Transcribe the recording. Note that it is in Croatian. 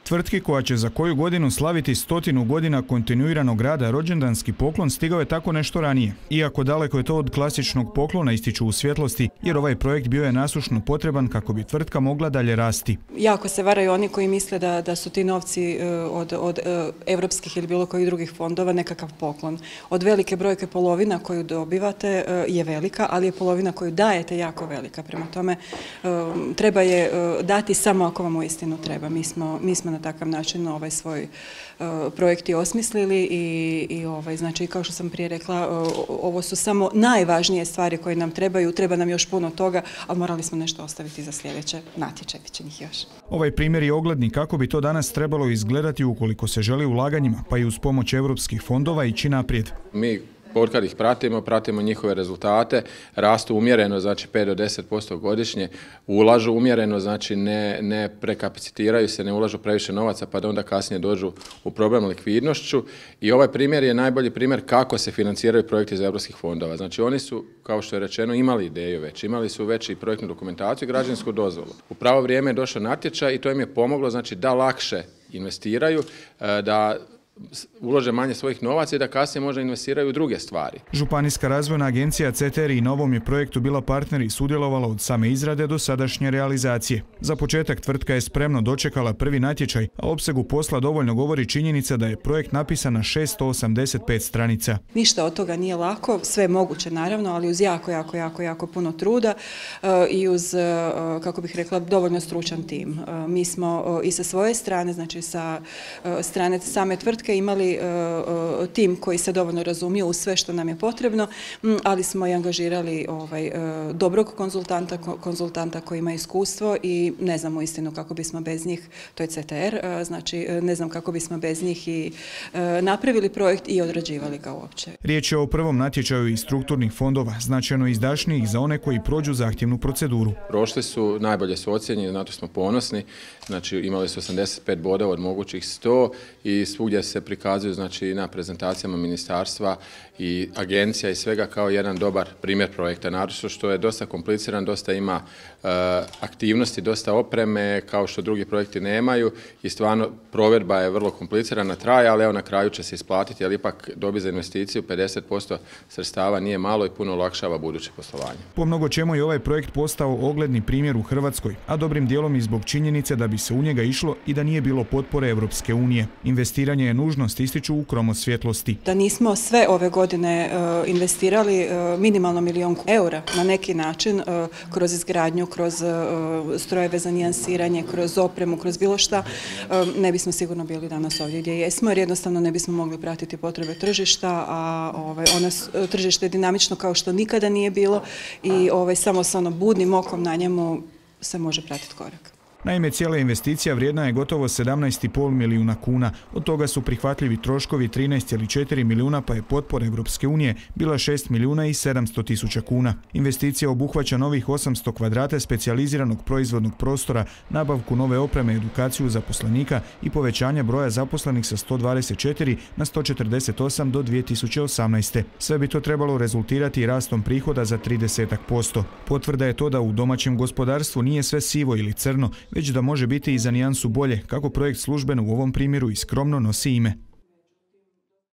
Tvrtki koja će za koju godinu slaviti 100 godina kontinuiranog rada rođendanski poklon stigao je tako nešto ranije. Iako daleko je to od klasičnog poklona, ističu u Svjetlosti, jer ovaj projekt bio je nasušno potreban kako bi tvrtka mogla dalje rasti. Jako se varaju oni koji misle da su ti novci od evropskih ili bilo kojih drugih fondova nekakav poklon. Od velike brojke polovina koju dobivate je velika, ali je polovina koju dajete jako velika. Prema tome treba je dati samo ako vam uistinu treba. Mi smo na takav način svoj projekt i osmislili i znači kao što sam prije rekla, ovo su samo najvažnije stvari koje nam trebaju, treba nam još puno toga, ali morali smo nešto ostaviti za sljedeće natječaje, bit će njih još. Ovaj primjer je ogledni kako bi to danas trebalo izgledati ukoliko se želi ulaganjima, pa i uz pomoć europskih fondova ići naprijed. Mi kad ih pratimo njihove rezultate, rastu umjereno, znači 5 do 10% godišnje, ulažu umjereno, znači ne prekapacitiraju se, ne ulažu previše novaca pa da onda kasnije dođu u problem likvidnošću. I ovaj primjer je najbolji primjer kako se financiraju projekti iz europskih fondova. Znači oni su, kao što je rečeno, imali ideju već, imali su već i projektnu dokumentaciju i građevinsku dozvolu. U pravo vrijeme je došao natječaj i to im je pomoglo, znači da lakše investiraju, da ulože manje svojih novaca i da kasnije možda investiraju u druge stvari. Županijska razvojna agencija CETERI na ovom je projektu bila partner i sudjelovala od same izrade do sadašnje realizacije. Za početak tvrtka je spremno dočekala prvi natječaj, a opsegu posla dovoljno govori činjenica da je projekt napisan na 685 stranica. Ništa od toga nije lako, sve je moguće naravno, ali uz jako puno truda i uz, kako bih rekla, dovoljno stručan tim. Mi smo i sa svoje strane, znači sa strane same tvrtke, imali tim koji se dovoljno razumije u sve što nam je potrebno, ali smo i angažirali dobrog konzultanta koji ima iskustvo i ne znam uistinu kako bismo bez njih, to je CTR, znači ne znam kako bismo bez njih i napravili projekt i odrađivali ga uopće. Riječ je o prvom natječaju iz strukturnih fondova, značajno izdašnijih za one koji prođu zahtjevnu proceduru. Prošli su, najbolje su ocijenjeni, na to smo ponosni, znači imali su 85 bodova od mogućih 100 i svugdje se prikazuju, znači na prezentacijama ministarstva i agencija i svega kao jedan dobar primjer projekta. Naravno što je dosta kompliciran, dosta ima aktivnosti, dosta opreme kao što drugi projekti nemaju i stvarno provedba je vrlo komplicirana, traje, ali evo na kraju će se isplatiti, ali ipak dobi za investiciju 50% sredstava nije malo i puno olakšava buduće poslovanje. Po mnogo čemu je ovaj projekt postao ogledni primjer u Hrvatskoj, a dobrim dijelom i zbog činjenice da bi se u njega išlo i da nije bilo potpore Europske unije. Investiranje je nužnost, ističu u Kromo Svjetlosti. Da nismo sve ove godine investirali minimalno 1 milijun eura na neki način kroz izgradnju, kroz strojeve za nijansiranje, kroz opremu, kroz bilo šta, ne bismo sigurno bili danas ovdje gdje jesmo, jer jednostavno ne bismo mogli pratiti potrebe tržišta, a tržište je dinamično kao što nikada nije bilo i samo sa budnim okom na njemu se može pratiti korak. Naime, cijela investicija vrijedna je gotovo 17,5 milijuna kuna. Od toga su prihvatljivi troškovi 13,4 milijuna, pa je potpora Europske unije bila 6 milijuna i 700 tisuća kuna. Investicija obuhvaća novih 800 kvadrata specijaliziranog proizvodnog prostora, nabavku nove opreme, edukaciju zaposlenika i povećanje broja zaposlenih sa 124 na 148 do 2018. Sve bi to trebalo rezultirati rastom prihoda za 30%. Potvrda je to da u domaćem gospodarstvu nije sve sivo ili crno, već da može biti i za nijansu bolje, kako projekt službeno u ovom primjeru i skromno nosi ime.